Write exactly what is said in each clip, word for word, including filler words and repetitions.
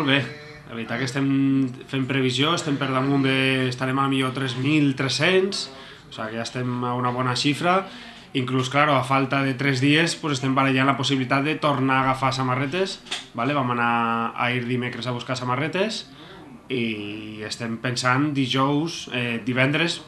molt bé. La veritat que estem fent previsió, estem per damunt de... estarem a millor tres mil tres-cents, o sigui que ja estem a una bona xifra. Inclús, claro, a falta de tres dies pues, estem barallant la possibilitat de tornar a agafar samarretes, ¿vale? Vam anar a ir dimecres a buscar samarretes i estem pensant dijous, eh, divendres,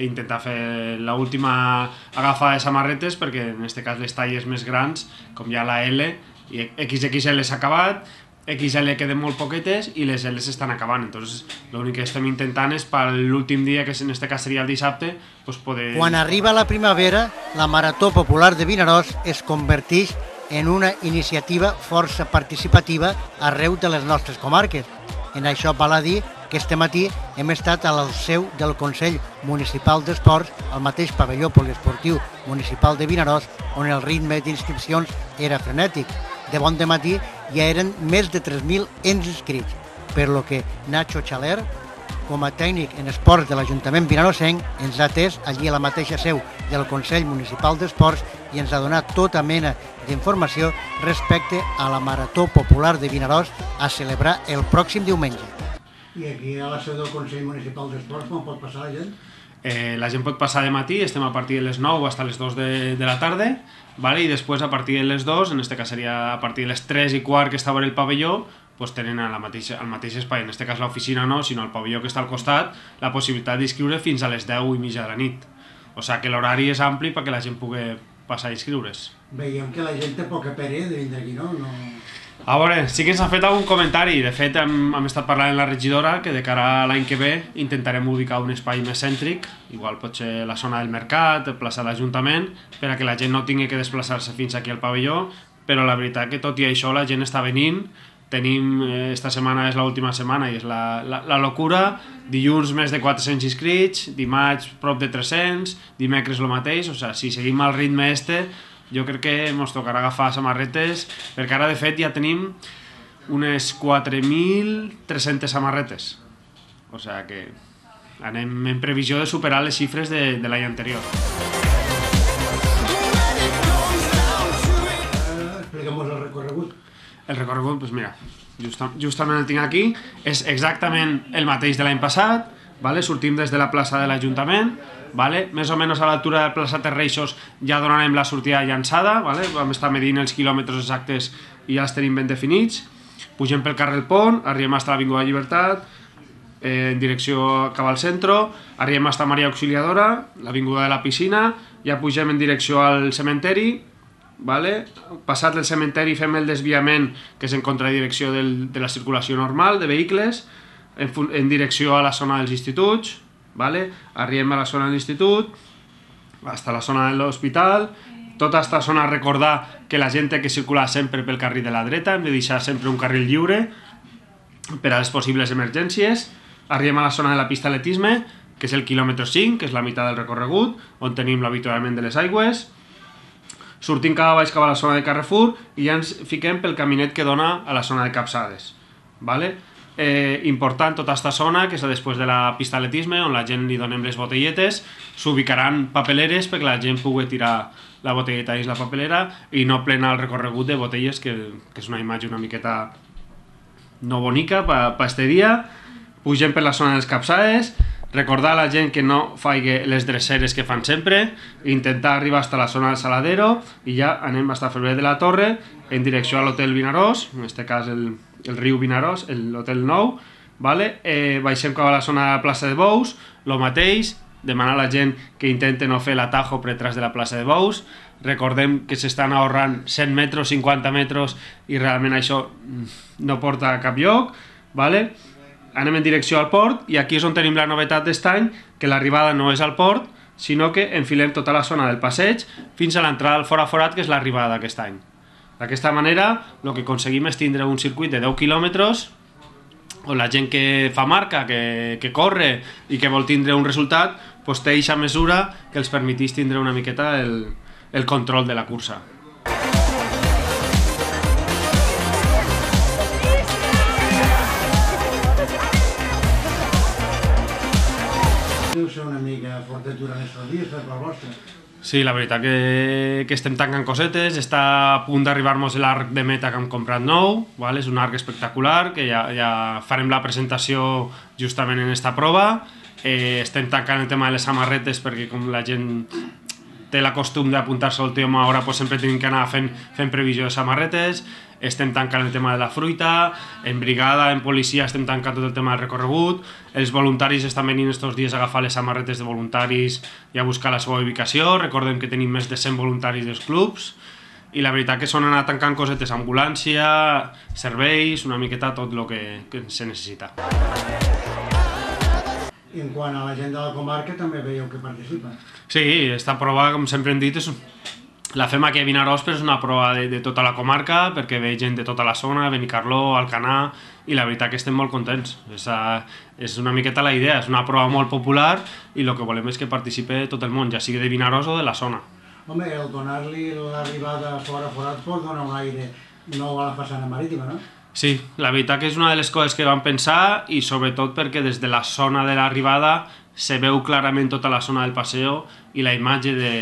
intentar fer l'última agafada de samarretes perquè en aquest cas les talles més grans, com ja la L, i X X L s'ha acabat, X L queden molt poquetes i les L s'estan acabant. Entonces, l'únic que estem intentant és per l'últim dia, que en aquest cas seria el dissabte, pues poder... Quan arriba la primavera, la Marató Popular de Vinaròs es converteix en una iniciativa força participativa arreu de les nostres comarques. En això val a dir que este matí hem estat a la seu del Consell Municipal d'Esports, al mateix pavelló poliesportiu municipal de Vinaròs, on el ritme d'inscripcions era frenètic. De bon dematí ja eren més de tres mil inscrits, per lo que Nacho Chaler, com a tècnic en esports de l'Ajuntament vinaròsenc, ens ha atès allí a la mateixa seu del Consell Municipal d'Esports i ens ha donat tota mena d'informació respecte a la Marató Popular de Vinaròs a celebrar el pròxim diumenge. I aquí a la seu del Consell Municipal d'Esports com pot passar la gent? Eh, la gent pot passar de matí, estem a partir de les nou fins a les dos de, de la tarda, ¿vale? I després a partir de les dos, en este cas seria a partir de les tres i quart que està a el pavelló, pues tenen a la mateixa, al mateix espai, en este cas l'oficina no, sinó el pavelló que està al costat, la possibilitat d'inscriure fins a les deu i mitja de la nit. O sigui que l'horari és ampli perquè la gent pugui passar a inscriure's. Veiem que la gent té poca pere de vindre aquí, no? no... A veure, sí que ens ha fet algun comentari. De fet, hem, hem estat parlant amb la regidora que de cara a l'any que ve intentarem ubicar un espai més cèntric, igual potser la zona del mercat, plaça de l'Ajuntament, per a que la gent no tingui que desplaçar-se fins aquí al pavelló, però la veritat que tot i això la gent està venint. Tenim, eh, esta setmana és l'última setmana i és la, la, la locura, dilluns més de quatre-cents inscrits, dimarts prop de tres-cents, dimecres el mateix, o sigui, si seguim el ritme este, jo crec que ens tocarà agafar samarretes, perquè ara de fet ja tenim unes quatre mil tres-centes samarretes. O sigui que anem en previsió de superar les xifres de, de l'any anterior. Explica'm el recorregut. El recorregut, doncs mira, justa, justament el tinc aquí, és exactament el mateix de l'any passat, vale? Sortim des de la plaça de l'Ajuntament, vale? Més o menys a l'altura de la plaça Terreixos ja donarem la sortida llançada, vale? Vam estar medint els quilòmetres exactes i ja els tenim ben definits. Pugem pel carrer El Pont, arribem fins a l'Avinguda Llibertat, eh, en direcció cap al centre, arribem fins a Maria Auxiliadora, l'Avinguda de la Piscina, ja pugem en direcció al cementeri, vale? Passat el cementeri fem el desviament que és en contradirecció del, de la circulació normal de vehicles, en, en direcció a la zona dels instituts, vale? Arribem a la zona de l'institut, fins a la zona de l'hospital, tota aquesta zona recordar que la gent té que circular sempre pel carril de la dreta, hem de deixar sempre un carril lliure per a les possibles emergències. Arribem a la zona de la pista d'atletisme, que és el quilòmetre cinc, que és la meitat del recorregut, on tenim l'avituallament de les aigües. Sortim cap a baix cap a la zona de Carrefour i ja ens fiquem pel caminet que dona a la zona de Capçades. Vale? Eh, important tota aquesta zona, que és després de la pista d'atletisme, on la gent li donem les botelletes, s'ubicaran papeleres perquè la gent pugui tirar la botelleta dins la papelera i no plena el recorregut de botelles, que, que és una imatge una miqueta no bonica per aquest dia. Pugem per la zona dels Capçades, recordar a la gent que no faci les dreceres que fan sempre, intentar arribar fins a la zona del Saladero i ja anem fins a Febrer de la Torre en direcció a l'Hotel Vinaròs, en aquest cas el, el riu Vinaròs, l'Hotel Nou, vale? eh, baixem cap a la zona de la plaça de Bous, el mateix, demanar a la gent que intente no fer l'atajo per detrás de la plaça de Bous. Recordem que s'estan ahorrant cent metres, cinquanta metres i realment això no porta a cap lloc, vale? Anem en direcció al port i aquí és on tenim la novetat d'aquest any, que l'arribada no és al port, sinó que enfilem tota la zona del passeig fins a l'entrada al Fora Forat, que és l'arribada d'aquest any. D'aquesta manera, el que aconseguim és tindre un circuit de deu quilòmetres on la gent que fa marca, que, que corre i que vol tindre un resultat, doncs té aquesta mesura que els permetís tindre una miqueta el, el control de la cursa. Deu ser una mica fortet durant aquests dies per la vostra. Sí, la veritat que, que estem tancant cosetes, està a punt d'arribar-nos l'arc de meta que hem comprat nou, vale? És un arc espectacular, que ja, ja farem la presentació justament en esta prova. Eh, estem tancant el tema de les samarretes perquè com la gent té la costum d'apuntar-se al tema, ara pues, sempre tenim que anar fent, fent previsió de samarretes. Estem tancant el tema de la fruita, en brigada, en policia estem tancant tot el tema del recorregut, els voluntaris estan venint estos dies a agafar les samarretes de voluntaris i a buscar la seva ubicació. Recordem que tenim més de cent voluntaris dels clubs i la veritat que són anar tancant cosetes, ambulància, serveis, una miqueta tot el que, que se necessita. I en quant a la gent de la comarca també veieu que participa. Sí, esta prova, com sempre hem dit, és la fem aquí a Vinaròs, però és una prova de, de tota la comarca, perquè ve gent de tota la zona, Benicarló, Alcanar, i la veritat que estem molt contents. És, a, és una miqueta la idea, és una prova molt popular i el que volem és que participi tot el món, ja sigui de Vinaròs o de la zona. Home, el donar-li l'arribada fora forat pot donar un aire nou a la façana marítima, no? Sí, la veritat que és una de les coses que vam pensar i sobretot perquè des de la zona de l'arribada se veu clarament tota la zona del paseo i la imatge de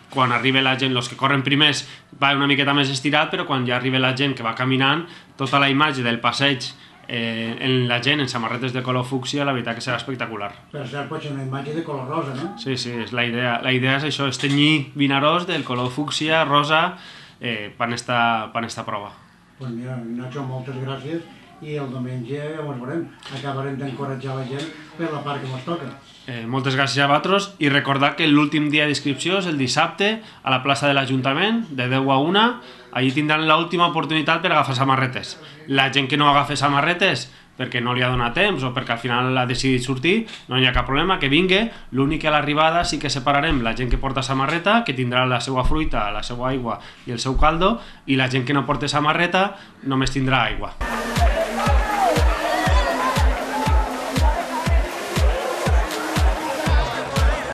quan arriba la gent, els que corren primers va una miqueta més estirat, però quan ja arriba la gent que va caminant, tota la imatge del passeig eh, en la gent en samarretes de color fúcsia, la veritat que serà espectacular. Per cert, pot ser una imatge de color rosa, no? Sí, sí, és la idea. La idea és això, és tenyir Vinaròs del color fúcsia, rosa, eh, per esta, per esta prova. Doncs mira, Nacho, moltes gràcies i el diumenge ja ens veurem. Acabarem d'encoratjar la gent per la part que ens toca. Eh, moltes gràcies a vosaltres i recordar que l'últim dia d'inscripció és el dissabte a la plaça de l'Ajuntament de deu a una. Allí tindran l'última oportunitat per agafar samarretes. La gent que no agafa samarretes perquè no li ha donat temps o perquè al final ha decidit sortir, no hi ha cap problema, que vingui. L'únic que a l'arribada sí que separarem la gent que porta samarreta, que tindrà la seva fruita, la seva aigua i el seu caldo, i la gent que no porta samarreta només tindrà aigua.